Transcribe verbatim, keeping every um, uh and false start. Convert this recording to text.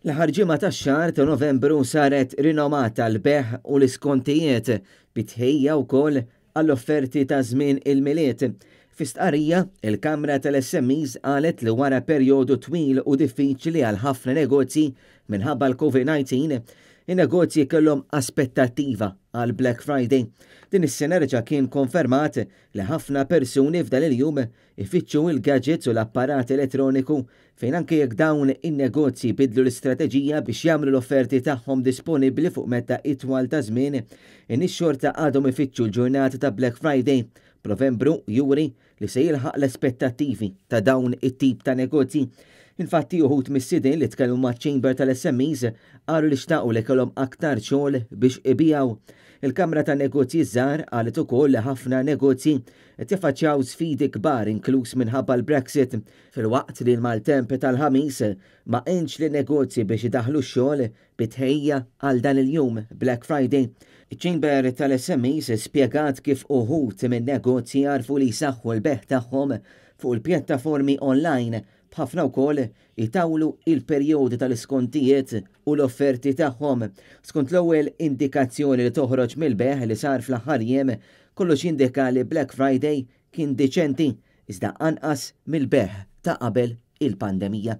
L-aħħar ġimgħa tax-xahar ta' Novembru saret rinomata l-bejgħ u l-iskontijiet bi tħejjija wkoll għall-offerti ta' żmien il-Milied. Fi stqarrija, il-Kamra tal-S M Es qalet li wara perjodu twil u diffiċli għal ħafna negozji minħabba l-COVID nineteen, in-negozji kellhom aspettattiva għal Black Friday. Din is-sena reġa' kien konfermat li ħafna persuni f'dan il-jum ifittxu il-gadgets u l-apparat elettroniku, fejn anke jekk dawn in-negozji bidlu l-istrateġija biex jagħmlu l-offerti tagħhom disponibbli fuq medda itwal ta' żmien, in-nies xorta għadhom ifittxu l-ġurnata ta' Black Friday. Novembru juri li se jilħaq l-aspettattivi ta' dawn it-tip ta' negozji. Infatti, uħud mis-sidin li tkellmu ma' Chamber tal-S M Es qalu li xtaqu li kellhom aktar xogħol biex ibigħu. Il-Kamra ta' Negozji Żgħar qalet ukoll li ħafna negozji qed jaffaċċjaw sfidi kbar, inkluż minħabba l-Brexit, filwaqt li l-maltemp tal-Ħamis ma għenx lin-negozji biex idaħlu x-xogħol bi tħejjija għal dan il-jum Black Friday. Iċ-Chamber tal-S M Es spjegat kif uħud minn negozji għarfu li jsaħħu l-bejgħ tagħhom fuq il-pjattaformi online, b'ħafna wkoll itawlu il-perjodi tal-iskontijiet u l-offerti tagħhom. Skont l-ewwel indikazzjoni li toħroġ mill-bejgħ li sar fl-aħħar jiem, kollox jindika li Black Friday kien diċenti, iżda anqas mill-bejgħ ta' qabel il-pandemija.